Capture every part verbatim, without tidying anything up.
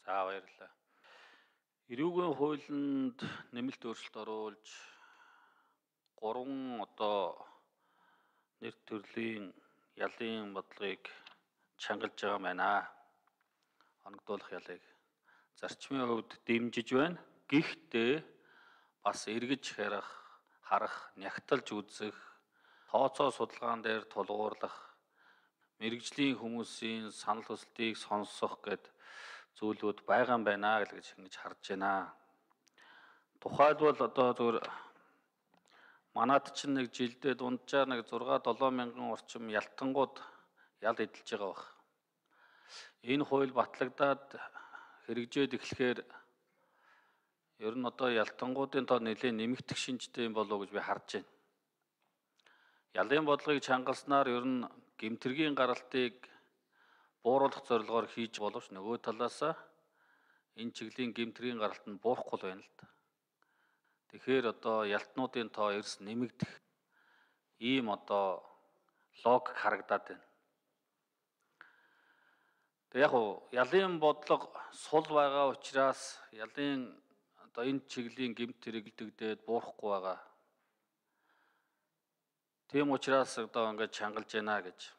За баярлалаа. Эрүүгийн хуулинд нэмэлт өөрчлөлт оруулж гурван одоо нэр төрлийн ялын бодлогыг чангалж байгаа байна. Оногдуулах ялыг зарчмын хувьд дэмжиж байна. Гэхдээ бас эргэж харах, харах, нягтлж үзэх, тооцоо судалгаан дээр тулгуурлах, мэрэгжлийн хүмүүсийн санал хүсэлтийг сонсох гэд зүйлүүд байгаа юм байна гэж ингэж харж байна. Тухайлбал одоо зөвхөн манад чинь нэг жилдээ дунджаар нэг зургаа долоо мянган орчим ялтангууд ял эдэлж байгаа баг. Энэ хууль батлагдаад хэрэгжээд эхлэхээр ер нь одоо ялтангуудын тоо нэлээд нэмэгдэх шинжтэй юм болов уу гэж би харж байна. Ялын бодлогыг чангалснаар ер нь гэмтэргийн гаралтыг бууруулах зорилгоор хийж боловч нөгөө талаасаа энэ чиглийн гэмтэргийн гаралт нь буурахгүй байна л да. Тэгэхээр одоо ялтнуудын тоо эрс нэмэгдэх ийм одоо логик харагдаад байна. Тэг яг уу ялын бодлого сул байгаа учраас ялын одоо энэ чиглийн гэмт хэрэгэлдэгдээд буурахгүй байгаа. Тийм учраас одоо ингэж чангалж байна гэж.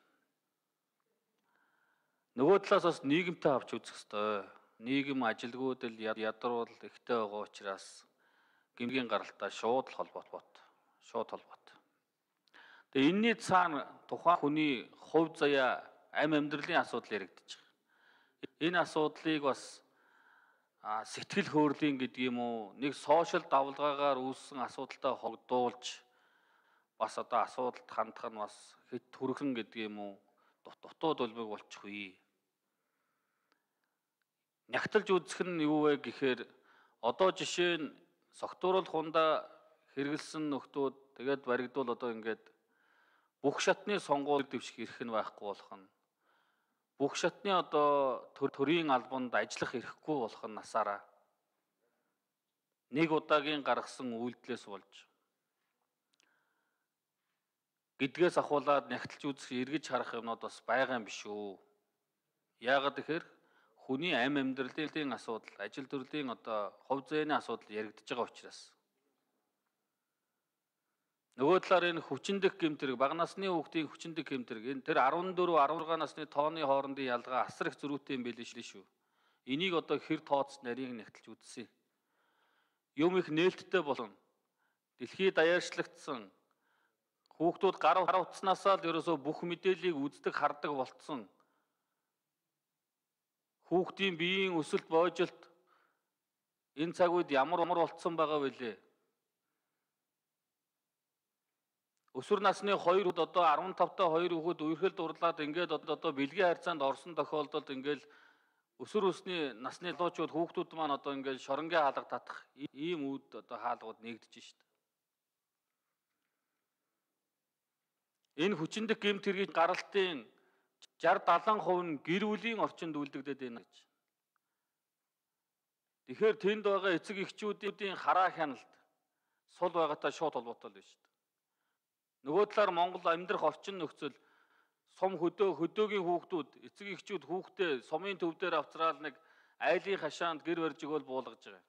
Нөгөө талаас бас нийгэмтэй авч үзэх ёстой. Нийгэм ажилгүйдэл ядруул ихтэй байгаа учраас гэмгийн гаралтай шууд холбоот бот. Шууд холбоот. Тэгээ энэний цаана тухайн хүний хувь заяа амь амьдралын асуудал яригдчих. Энэ асуудлыг бас сэтгэл хөөрлийн гэдэг юм уу нэг сошиал давлгаагаар үүссэн асуудалтай холбоодуулж бас одоо асуудалд хандах нь бас хэд түрхэн гэдэг юм уу дутууд улмыг болчихгүй. Нягтлж үзэх нь юу вэ гэхээр одоо жишээ нь согтууруулах хундаа хэрэгэлсэн нөхдүүд тэгээд баригдуул одоо ингээд бүх шатны сонгуул дэвших эрх нь байхгүй болох нь бүх шатны одоо төрийн албанд ажиллах эрхгүй болох нь насаараа нэг удаагийн гаргасан үйлдэлээс болж гэдгээс ахуулаад нягтлж үзэх эргэж харах юмнууд бас байгаа юм биш үү? Яагаад гэхээр хүний амь амьдралын асуудал, ажил төрлийн одоо хувь зээний асуудал яригдж байгаа учраас. Нөгөө талаар энэ хүчиндэх гэмтэрэг, бага насны хүүхдийн хүчиндэх гэмтэрэг, энэ тэр арван дөрөв арван гурав насны тооны хоорондын ялгаа асар их зөрүүтэй юм билээ шүү. Энийг одоо хэр тооц нарийг нягтлж үзсэн. Юм их нээлттэй болно. Дэлхийд даяарчлагдсан хүүхдүүд гар утснаасаа л ерөөсөө бүх мэдээллийг үздэг, хардаг болцсон. Хүүхдийн биеийн өсөлт боожилт энэ цаг үед ямар ямар болцсон байгаа вүлээ. Өсвөр насны хоёр хүүхэд одоо арван тавтай хоёр хүүхэд үерхэл дурлаад ингээд одоо бэлгийн харьцаанд орсон тохиолдолд ингээд өсвөр өсний насны залуучууд хүүхдүүд маань одоо ингээд шоронгийн хаалга татах ийм үүд одоо хаалгууд нэгдэж шít. Энэ хүчиндэх гэмт хэргийн гаралтын шестьдесят седьмидээ хувь нь гэр бүлийн орчинд үлдэгдээд байна гэж. Тэгэхээр тэнд байгаа эцэг эхчүүдийн хараа хяналт сул байгаатай шууд холбоотой л байна шүү дээ. Нөгөө талаар Монгол амьдрах орчин нөхцөл сум хөдөө хөдөөгийн хүүхдүүд эцэг эхчүүд хүүхдээ сумын төв дээр авцраал нэг айлын хашаанд гэр барьж өгөөл буулгаж байгаа.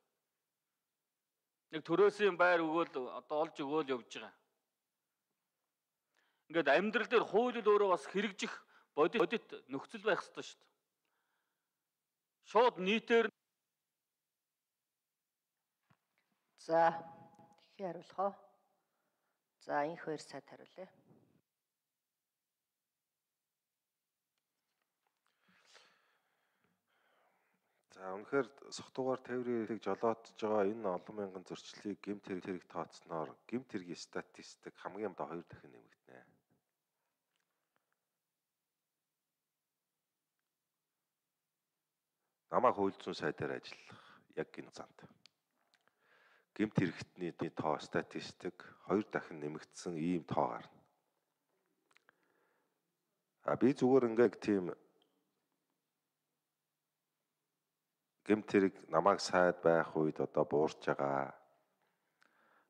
Нэг төрөөсийн байр өгөөл одоо олж өгөөл явж байгаа. Ингээд амьдрал дээр хууль өөрөө бас хэрэгжих бодит нөхцөл байх ёстой шүү дээ. Шууд нийтээр за ихе хариулах уу? За энэ хоёр сайд хариулъя. За үнэхээр согтуугаар тээврийг жолоодж байгаа энэ олон мянган зөрчлийг гэмт хэрэг хэрэг тооцсноор гэмт хэргийн статистик хамгийн амд хоёр дахин нэмэгдэнэ. Намайг хууль зүйн сайдаар ажиллах яг энэ занд гэмт хэрэгтний тоо статистик хоёр дахин нэмэгдсэн ийм тоо гарна. А би зүгээр ингээд тийм гэмт хэрэг намайг сайд байх үед одоо буурч байгаа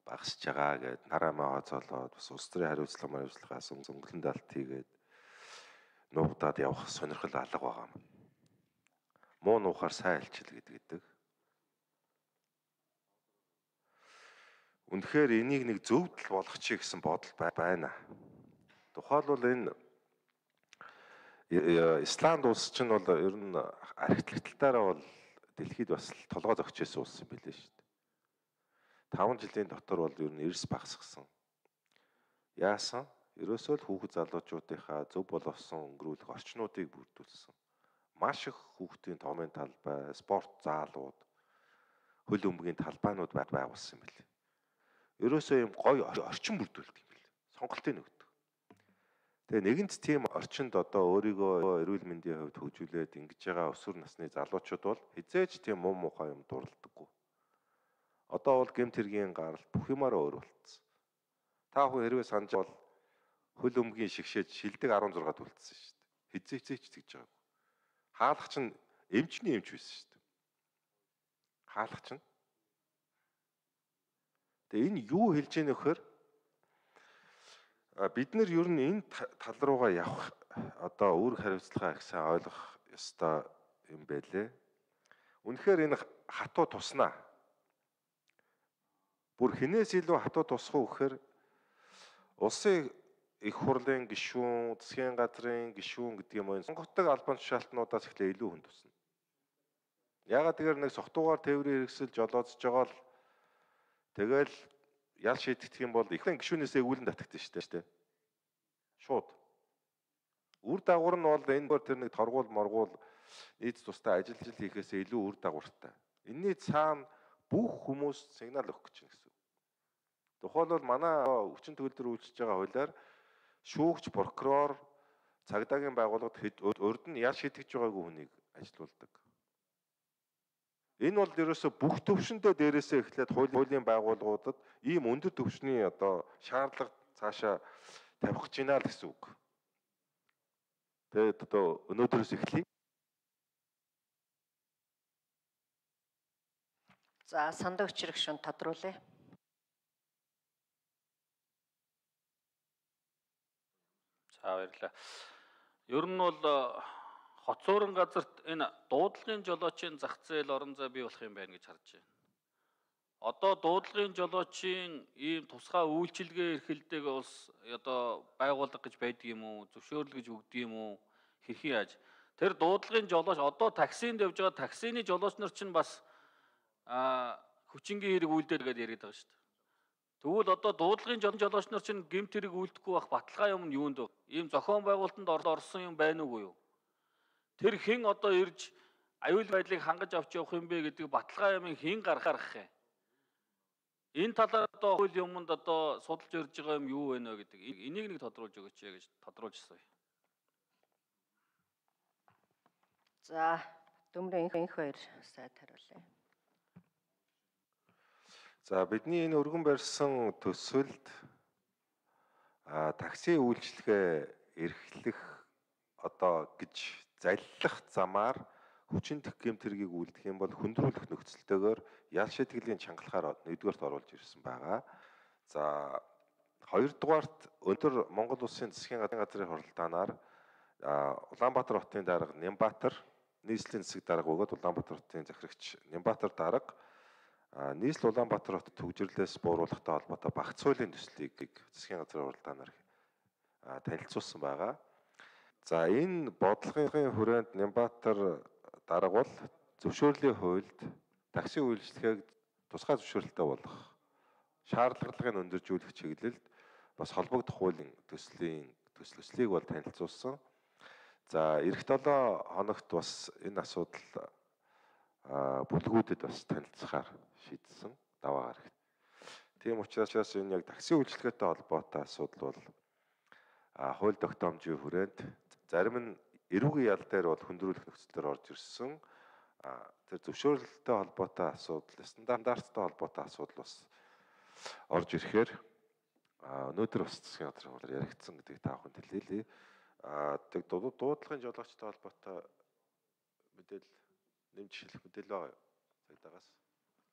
багасж байгаа гэд нараамаа хоцоолоод бас улс төрийн хариуцлага хариуцлагаас өнгөлн далт хийгээд нуугдаад явах сонирхол алга байгаа юм. муу нуухаар сайн альчил гэдэг. Үнэхээр энийг нэг зөвдөл болгочих гэсэн бодол байна. Тухайлбал энэ Исланд улс чинь бол ер нь архитектуртаараа бол дэлхийд бас толгой зөгчөөсөн улс юм билээ шүү дээ. таван жилийн дотор бол ер нь эрс багасгсан. Яасан? Ерөөсөө л хүүхэд залуучуудынхаа зөв боловсон өнгөрүүлэх орчнуудыг бүрдүүлсэн. Маш их хүүхдийн томын талбай, спорт заалууд, хөл өмгийн талбайнууд байгуулсан юм билээ. Ерөөсөө юм гоё орчин бүрдүүлдэг юм билээ. Сонголтыг өгдөг. Тэгээ нэгэнт тийм орчинд одоо өөрийгөө эрүүл мэндийн хувьд хөгжүүлээд ингэж байгаа өсвөр насны залуучууд бол хизээж тийм муу мухай юм дурлдаггүй. Одоо бол гэмт хэргийн гаралт бүх юмараа өөр болцсон. Та бүхэн хэрвээ санаж бол хөл өмгийн шигшээд шилдэг арван зураг үлдсэн шүү дээ. Хизээч тэгж байгаагүй. Хаалгач нь эмчний эмч байсан шүү дээ. Хаалгач нь. Тэгээ энэ юу хэлж ийнэ вэхээр бид нар ер нь энэ тал руугаа явах одоо үүрэг хариуцлага их сайн ойлгох ёстой юм байлээ. Үнэхээр энэ хатуу туснаа. Бүр хинээс илүү хатуу тусах уу гэхээр улсын их хурлын гишүүн, засгийн газрын гишүүн гэдэг юм уу сонгогддог албан тушаалтнуудаас эхлээ илүү хүн тусна. Ягаад гэвэл нэг согтуугаар тээврийн хэрэгсэл жолоодж байгаа л тэгэл ял шийдэх юм бол ихэнх гишүүнээсээ үүлэн татагдсан шүү дээ. Шууд. Үр дагавар нь бол энэ тэр нэг торгуул моргуул нийт тустай ажиллаж хийхээсээ илүү үр дагавартай. Энийний цаана бүх хүмүүс сигнал өгөх гэж байна гэсэн. Тухайлбал манай хүчин төгөлдөр үйлчилж байгаа хуулиар шүүгч, прокурор, цагдаагийн байгууллагад урд нь ял шийдэж байгаагүй хүнийг ажилуулдаг. Энэ бол ерөөсө бүх төвшөндөө дээрээсээ эхлээд хуулийн байгууллагуудад ийм өндөр төвшний одоо шаардлага цаашаа тавих гэж байна л гэсэн үг. Тэгээд одоо өнөөдрөөс эхлэе. За сандаа өчрөх шун тодруулъя. За баярлалаа. Ер нь бол хоцоорон газарт энэ дуудлагын жолоочийн зах зээл орон зай бий болох юм байна гэж харж байна. Одоо дуудлагын жолоочийн ийм тусгай үйлчилгээ эрхэлдэг улс одоо байгууллага гэж байдаг юм уу? Зөвшөөрөл гэж өгдөг юм уу? Хэрхэн яаж? Тэр дуудлагын жолооч одоо таксинд явж байгаа таксины жолооч нар чинь бас а хүчингийн хэрэг үйлдэл гэдээ яриад байгаа шүү дээ. Тэгвэл одоо дуудлагын жолооч нар чинь гэмт хэрэг үйлдэхгүй байх баталгаа юм нь юунд вэ? Ийм зохион байгуулалтанд орсон юм байна уугүй юу? Тэр хэн одоо ирж аюул байдлыг хангаж авч явах юм бэ гэдэг баталгаа юм хэн гаргах юм? Энэ талаар одоо хууль юмд одоо судалж ирж байгаа юм юу вэ нэ гэдэг. Энийг нэг тодруулж өгөөч гэж тодруулжсаа. За Дүмрэн энх хоёр сайд хариулъя. За бидний энэ өргөн барьсан төсөлд а такси үйлчилгээ эрхлэх одоо гэж заллах замаар хүчинтэх гэмт хэргийг үлдэх юм бол хөндрүүлэх нөхцөлтэйгээр ял шийтгэлийн чангалахаар нэгдүгээрт оруулж ирсэн байгаа. За хоёрдугаарт өндөр Монгол Улсын засгийн газрын хуралдаанаар Улаанбаатар хотын дарга Нямбатар нийслэлийн засаг дарга бөгөөд Улаанбаатар хотын захирагч Нямбатар дарга нийслэл Улаанбаатар хот төвжирлээс бууруулахтай холбоотой багц хуулийн төслийг засгийн газрын хуралдаанаар танилцуулсан байгаа. За энэ бодлогын хүрээнд Нямбатар дарга бол зөвшөөрлийн хуульд такси үйлчлэгийг тусгай зөвшөөрөлтэй болгох шаардлагыг өндөржүүлэх чиглэлд бас холбогдох хуулийн төслийн төслийг бол танилцуулсан. За эх долоо хоногт бас энэ асуудал бүлгүүдэд бас танилцахаар шийдсэн даваа гарагт. Тийм учраас энэ яг такси үйлчлэгээтэй холбоотой асуудал бол хууль тогтоомжийн хүрээнд зарим нь эрүүгийн ял дээр бол хөндрүүлэх нөхцөлөөр орж ирсэн. Тэр зөвшөөрөлттэй холбоотой асуудал, стандарттай холбоотой асуудал бас орж ирэхээр өнөөдөр бас засгийн газрын хуулиар яригдсан гэдгийг та бүхэнд хэлээлье. Тэг дуудлагын жолоочтой холбоотой мэдээлэл нэмж хэлэх мэдээлэл байгаа юу? Цагдаагаас.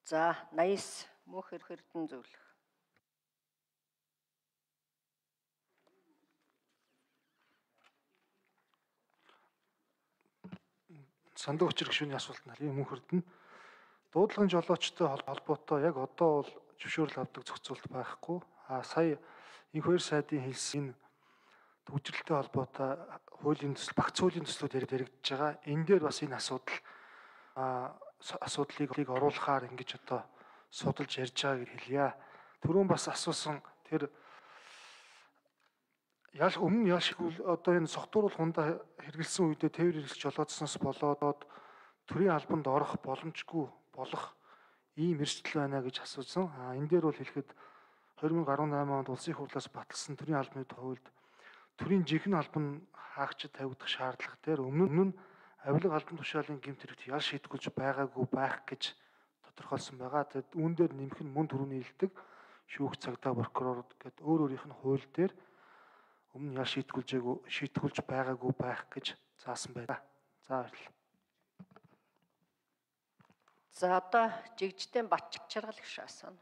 За Наяс мөнх эрдэн зөвлөх. сандуу хүчир гишүүний асуулт нарийн мөн хүрдэнэ. Дуудлагын жолоочтой холбоотой яг одоо бол зөвшөөрөл авдаг зохицуулт байхгүй. А сая энх хоёр сайдын хэлсэн төвчрэлтэй холбоотой хуулийн төсөл, багц хуулийн төслүүд яригдж байгаа. Энэ дээр бас энэ асуудал а асуудлыг оруулахаар ингэж одоо судалж ярьж байгааг хэлье. Түрүүн бас асуусан тэр ял өмнө яшгүй одоо энэ согтууруулах хундаа хэрэгэлсэн үедээ тээвэр хэрэглэж жолоодсноос болоод төрийн албанд орох боломжгүй болох ийм эрсдэл байна гэж асуусан. А энэ дээр бол хэлэхэд хоёр мянга арван найман онд улсын хурлаас баталсан төрийн албаны хувьд төрийн жинхэнэ албан хаагчид тавигдах шаардлага дээр өмнө нь авилга албан тушаалын гэмт хэрэгт ял шийтгүүлж байгаагүй байх гэж тодорхойлсон байгаа. Тэгэд үүн дээр нэмэх нь мөн түрүүний хэлдэг шүүх цагдаа прокурор гэдэг өөр өөрийнх нь хууль дээр өмнө ял шийтгүүлжээгүй шийтгүүлж байгаагүй байх гэж заасан байна. За баярлалаа. За одоо жигжтэй Батчаргал гişүү асууна.